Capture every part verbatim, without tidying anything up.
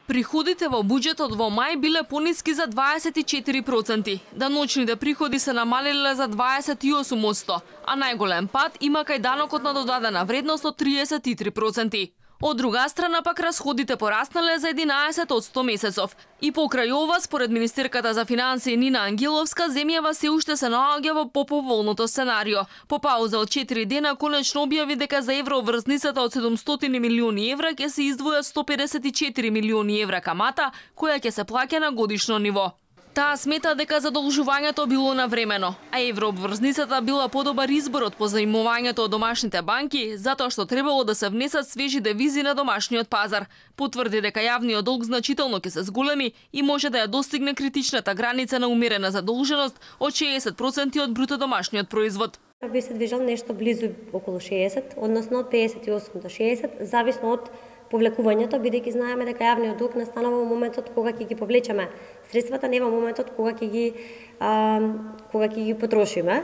Приходите во буџетот во мај биле пониски за дваесет и четири проценти. Даночните приходи се намалиле за дваесет и осум проценти, а најголем пад има кај данокот на додадена вредност од триесет и три проценти. Од друга страна пак расходите пораснале за единаесет проценти месецов. И покрај ова, според министерката за финансии Нина Ангеловска, земјава се уште се наоѓа во поповолното сценарио. По пауза од четири дена конечно објави дека за евроврзницата од седумстотини милиони евра ќе се издвојат сто педесет и четири милиони евра камата, која ќе се плаќа на годишно ниво. Таа смета дека задолжувањето било навремено, а еврообврзницата била подобар избор од позаимувањето од домашните банки, затоа што требало да се внесат свежи девизи на домашниот пазар. Потврди дека јавниот долг значително ќе се зголеми и може да ја достигне критичната граница на умерена задолженост од шеесет проценти од бруто домашниот производ. Би се движел нешто близу околу шеесет, односно од педесет и осум до шеесет, зависно од повлекувањето, бидејќи знаеме дека јавниот долг настанува во моментот кога ќе ги повлечеме средствата, не во моментот кога ќе ги а, кога ќе ги потрошиме.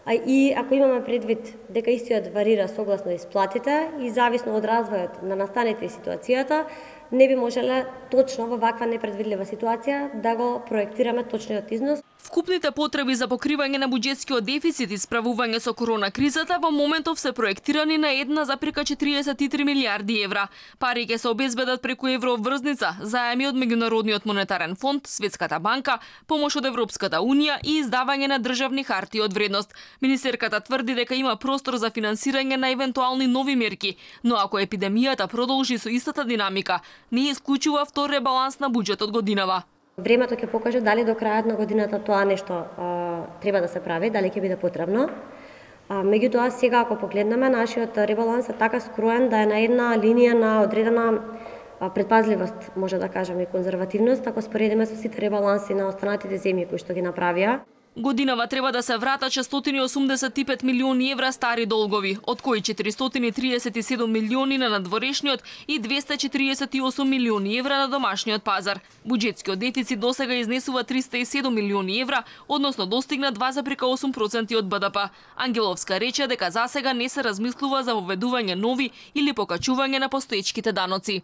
А и ако имаме предвид дека истиот варира согласно исплатите и зависно од развојот на настаните и ситуацијата, не би можеле точно во ваква непредвидлива ситуација да го проектираме точниот износ. Вкупните потреби за покривање на буџетскиот дефицит и справување со корона кризата во моментов се проектирани на една запирка четириесет и три милијарди евра. Пари ќе се обезбедат преку еврообврзница, заеми од Меѓународниот монетарен фонд, Светската банка, помош од Европската унија и издавање на државни харти од вредност. Министерката тврди дека има простор за финансирање на евентуални нови мерки, но ако епидемијата продолжи со истата динамика, не исклучува втор ребаланс на буџетот годинава. Времето ќе покаже дали до крајот на годината тоа нешто а, треба да се прави, дали ќе биде потребно. А, меѓутоа, сега ако погледнеме, нашиот ребаланс е така скроен да е на една линија на одредена а, предпазливост, може да кажеме, и конзервативност, ако споредиме со сите ребаланси на останатите земји кои што ги направија. Годинава треба да се вратат шестстотини и осумдесет и пет милиони евра стари долгови, од кои четиристотини и триесет и седум милиони на надворешниот и двесте и четириесет и осум милиони евра на домашниот пазар. Буџетскиот дефицит досега изнесува триста и седум милиони евра, односно достигна два запирка осум проценти од Б Д П. Ангеловска рече дека засега не се размислува за воведување нови или покачување на постоечките даноци.